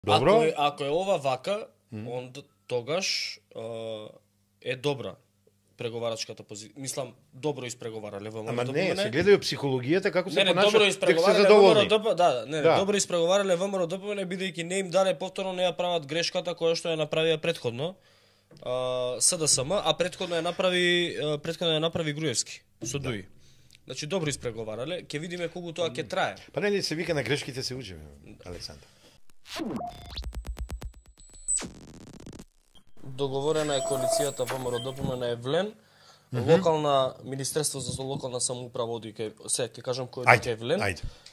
Добро. Ако е ова вака, онда тогаш е добра преговарачката позиција. Мислам, добро испреговарале ВМРО. Ама не, се гледају психологијата како се понашаат. добро испреговарале ВМРО, добро испреговарале ВМРО ДПМН бидејќи не им даде повторно не ја прават грешката која што ја направија претходно. СДСМ, а претходно ја направи Груевски со ДУИ. Значи добро испреговарале, ќе видиме колку тоа ќе трае. Па нели се вика на грешките се учиме, Александар. Договорена е коалицијата ВМРО ДПМН Евлен, локална Министерство за локална самоуправа оди кај, ќе кажам кој е кај Евлен.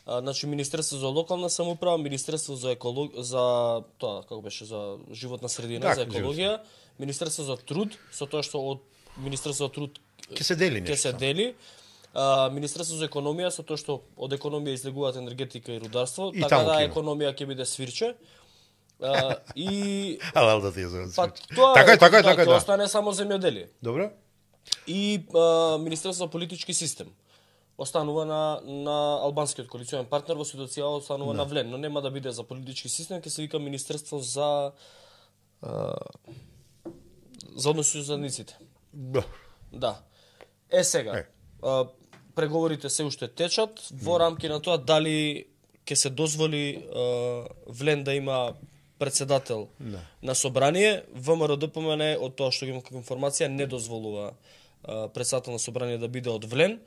Значи Министерство за локална самоуправа, Министерство за за тоа како беше за животна средина, за екологија, Министерство за труд, со тоа што од Министерство за труд ќе се дели нешто. Ќе се дели. Министерство за економија, со тоа што од економија излегуваат енергетика и рударство, и така да економија ќе биде свирче. И алал да ти ја зоват. Така е, ќе остане само земјоделие. Добро. И Министерство за политички систем останува на албанскиот коалиционен партнер, во ситуација останува на Влен, но нема да биде за политички систем, ќе се вика Министерство за односи со заедниците. Да. Сега, преговорите се уште течат, во рамки на тоа дали ќе се дозволи Влен да има председател на собрание. ВМРО ДПМН, од тоа што имам како информација, не дозволува председател на собрание да биде од Влен.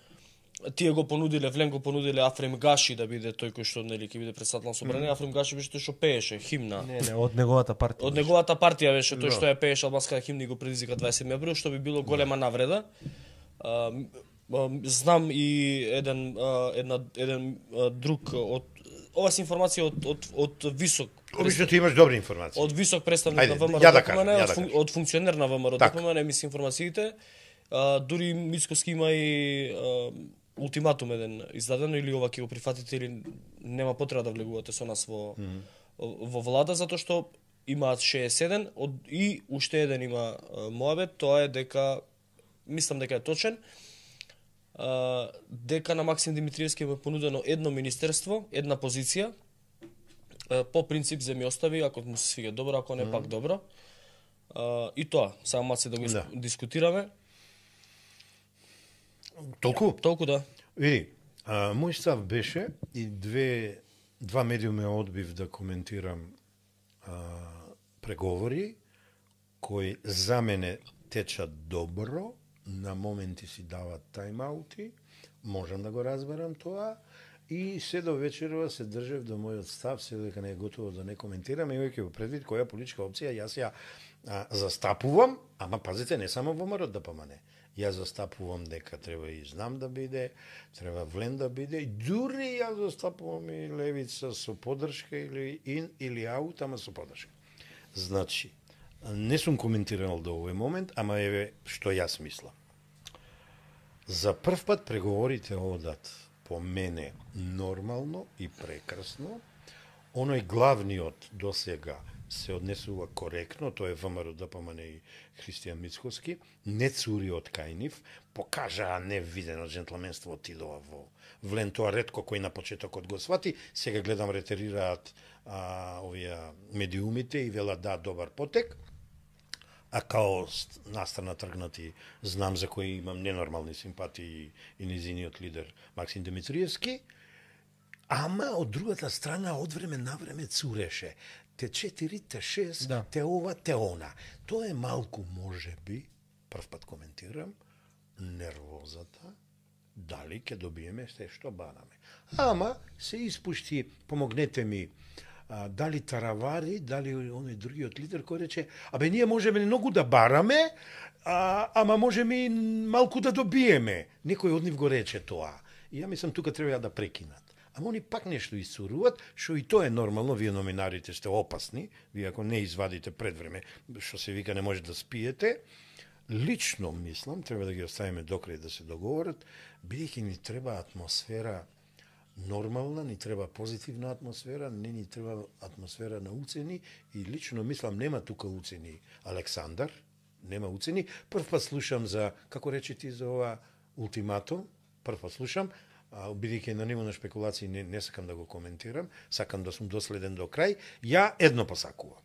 Тие го понудиле, Влен го понудиле Афрем Гаши да биде тој кој што нели ќе биде председател на собрание. Афрем Гаши беше тој што пееше химна. Не, од неговата партија. Од неговата партија беше тој што ја пееше албанската химна и го предизвика 27 април, што би било голема навреда. Знам и еден друг од ова се информација од висок. Обично ти имаш добри информации. Од висок представник на ВМРО ДПМН, од функционер на ВМРО ДПМН ми се информациите. Дури Мицкоски има и ултиматум еден издаден, или ова ќе го прифатите или нема потреба да влегувате со нас во влада, затоа што имаат 61 и уште еден има моабет, тоа е дека мислам дека е точен. Дека на Максим Димитриевски е понудено едно министерство, една позиција, по принцип земји остави, ако му се свига добро, ако не пак добро. И тоа, само маце да го дискутираме. Толку да. Види, мој став беше и два медиуми одбив да коментирам преговори кои за мене течат добро, на моменти си дават тайм-аути, можам да го разберам тоа, и се до вечерва се држев до мојот став, се дека не е готово да не коментирам, имајќи во предвид која политичка опција јас ја застапувам, ама пазите, не само во ВМРО ДПМН. Јас застапувам дека треба и Знам да биде, треба Влен да биде, и дури јас застапувам и левица со поддршка или аут, ама со поддршка. Значи, не сум коментирал до овој момент, ама еве што јас мислам. За прв пат преговорите одат по мене нормално и прекрасно. Оној главниот досега се однесува коректно, тоа е ВМРО ДПМН и Христијан Мицкоски, не цури од кај нив, покажаа невидено джентлменство, отидова во Влен, тоа ретко кој на почетокот го свати, сега гледам ретерираат овие медиумите и велат да добар потек, а као настрана тргнати Знам за кој имам ненормални симпатии и низиниот лидер Максим Димитриевски, ама од другата страна од време на време цуреше. Те 4, те 6, те ова, те она. Тоа е малку, можеби, прв пат коментирам, нервозата, дали ќе добиеме се што бараме. Ама се испушти, помогнете ми, дали Таравари, дали оној другиот лидер кој рече, абе ние можеме многу да бараме, ама можеме и малку да добиеме. Некој од нив го рече тоа. И ја мислам тука треба да прекинат. Ама они пак нешто исцуруваат, што и тоа е нормално, вие номинарите сте опасни, вие ако не извадите пред време, што се вика не може да спиете. Лично мислам, треба да ги оставиме докрај да се договорат, бидејќи ни треба атмосфера нормална, ни треба позитивна атмосфера, не ни треба атмосфера на уцени, и лично мислам нема тука уцени Александар, нема уцени. Прв пат слушам за, како рече ти за ова ултиматум, прв пат слушам, бидејќи на ниво на шпекулации не сакам да го коментирам, сакам да сум доследен до крај, ја едно посакувам.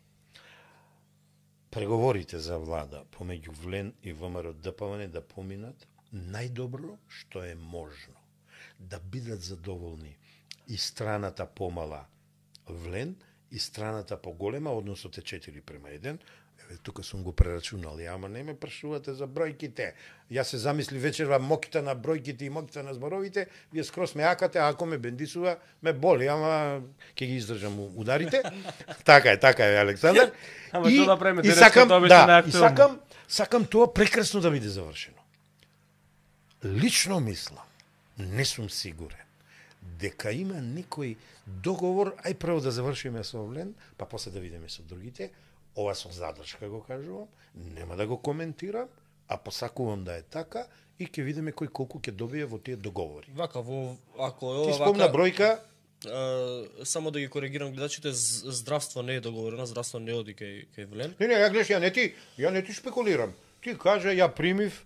Преговорите за влада помеѓу ВЛЕН и ВМРО ДПМН да поминат најдобро што е можно. Да бидат задоволни и страната помала ВЛЕН и страната поголема, односот е 4:1. Тука сум го прерачунал, ама не ме прашувате за бројките. Јас се замисли вечерва моките на бројките и моките на зборовите, вие скрос ме акате, а ако ме бендисува, ме боли, ама ќе ги издржам ударите. Така е, Александар. Ама што да правиме, сакам тоа прекрасно да биде завршено. Лично мислам, не сум сигурен, дека има некој договор, ај прво да завршиме со ВЛЕН, па после да видиме со другите. Ова со задршка го кажувам, нема да го коментирам, а посакувам да е така и ќе видиме кој колку ќе добие во тие договори. Вака, ако е ова ти спомна вака, бројка, само да ги коригирам гледачите, здравство не е договорено, здравство не оди кај ВЛЕН. Не, ја гледаш, ја не ти шпекулирам. Ти кажа, ја примив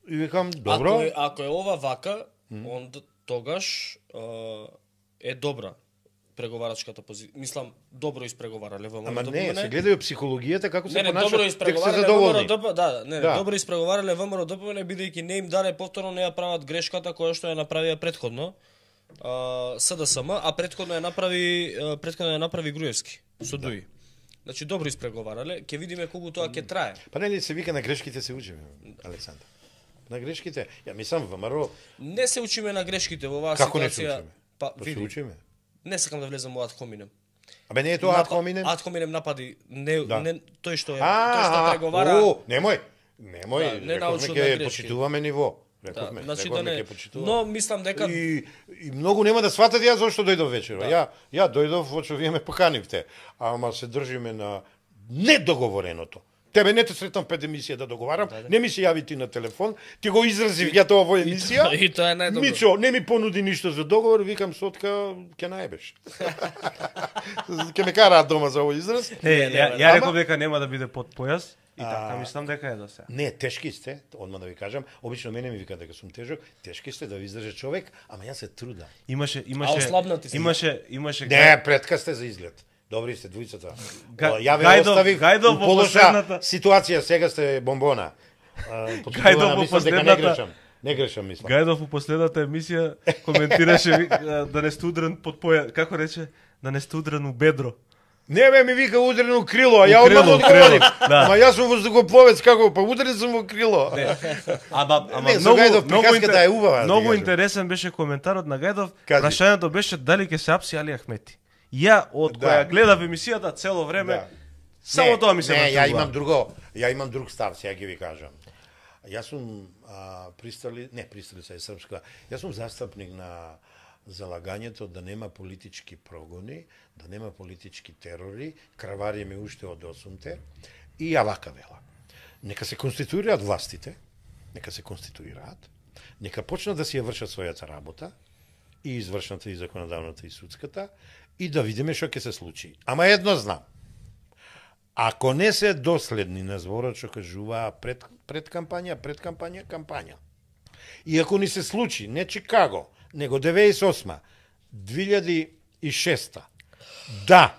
и викам, добро. Ако е ова вака, онда тогаш е добра преговарачката позиција. Мислам, добро испреговарале ВМРО. Ама не, се гледају психологијата како се понашаат. добро испреговарале ВМРО. Добро испреговарале ВМРО ДПМН бидејќи не им даде повторно, не ја прават грешката која што ја направија претходно СДСМ, а претходно ја направи Груевски со ДУИ. Значи добро испреговарале, ќе видиме колку тоа ќе трае. Па не се вика на грешките се учиме, Александар. На грешките, ја мислам ВМРО. Не се учиме на грешките во оваа како ситуација. Па се учиме. Не сакам да влезам во ад хоминем. Абе не е тоа ад хоминем? Ад хоминем напади не тој што преговара. Немој. Не научно да ќе почитуваме ниво. Рековме ќе почитуваме. Но мислам дека и многу нема да сватат ја зошто дојдов вечерва. Ја дојдов во што вие ме поканивте, ама се држиме на недоговореното. Тебе не те сретам пред емисија да договарам, не ми се јави ти на телефон, ти го изразив ја тоа во емисија. И тоа е најдобро. Мичо, не ми понуди ништо за договор, викам сотка, ќе најбеш. Ќе ме караат дома за овој израз. Ја реков дека нема да биде под појас. И така мислам дека е до сега. Не, тешки сте, одма да ви кажам. Обично мене ми вика дека сум тежок. Тешки сте да ви издржи човек, ама јас се трудам. Имаше Не, претка сте за изглед. Добри сте двојцата. Ја ве оставив во лоша ситуација, сега сте бомбона. Гајдов во последната не грешам, мислам. Гајдов во последната емисија коментираше да не сте удрен под поја, како рече, да не сте удрен у бедро. Не бе, ми вика удрено крило, а ја одмah одговорив. Ама јас сум воздухопловец, како па удрен сум во крило. Ама многу интересен беше коментарот на Гајдов. Прашањето беше дали ќе се апси Али Ахмети. Ја од која гледав емисијата цело време, само тоа ми се натругува. Ја имам друг став, сега ќе ви кажам. Јас сум присталица е српска. Јас сум застапник на залагањето да нема политички прогони, да нема политички терори, кравариме уште од 8-те, и ја вака вела. Нека се конституираат властите, нека почнат да си ја вршат својата работа, и извршната, и законодавната, и судската, и да видиме што ќе се случи. Ама едно знам. Ако не се доследни на зборот што кажуваа пред кампања, и ако ни се случи, не Чикаго, него 98, 2006, да,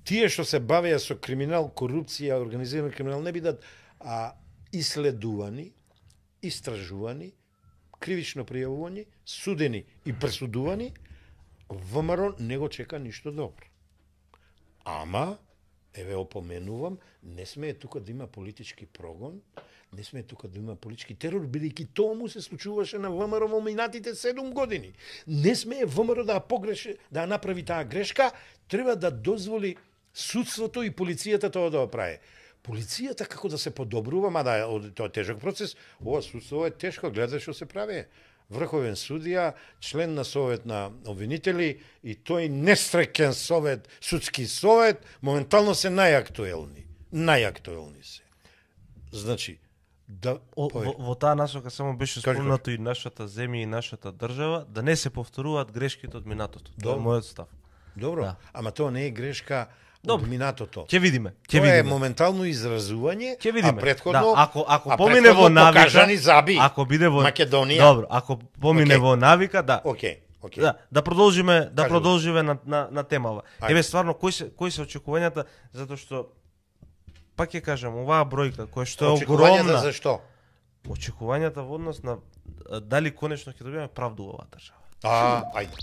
тие што се бавеа со криминал, корупција, организиран криминал, не бидат иследувани, истражувани, кривично пријавувани, судени и пресудувани, ВМРО не го чека ништо добро. Ама, еве опоменувам, не смее тука да има политички прогон, не смее тука да има политички терор, бидејќи тоа му се случуваше на ВМРО во минатите 7 години. Не смее ВМРО да да направи таа грешка, треба да дозволи судството и полицијата тоа да го прави. Полицијата како да се подобрува, мада тоа е тежок процес, ова судство е тешко, гледа што се прави. Врховен судија, член на совет на обвинители и тој нестрекен совет, судски совет, моментално се најактуелни се. Значи, во таа насока само беше спомнато и нашата земја и нашата држава, да не се повторуваат грешките од минатото. Тоа е мојот став. Добро, ама тоа не е грешка од минатото. Ќе видиме. Тоа е моментално изразување, а претходно ако помине во навика, покажани заби. Ако биде во Македонија. Добро, ако помине во навика, да. Океј. Okay. Да продолжиме на темава. Еве стварно кои се очекувањата, затоа што пак ќе кажам, оваа бројка која што е огромна. Очекувањата за што? Очекувањата во однос на дали конечно ќе добиеме правду во оваа држава. Ајде.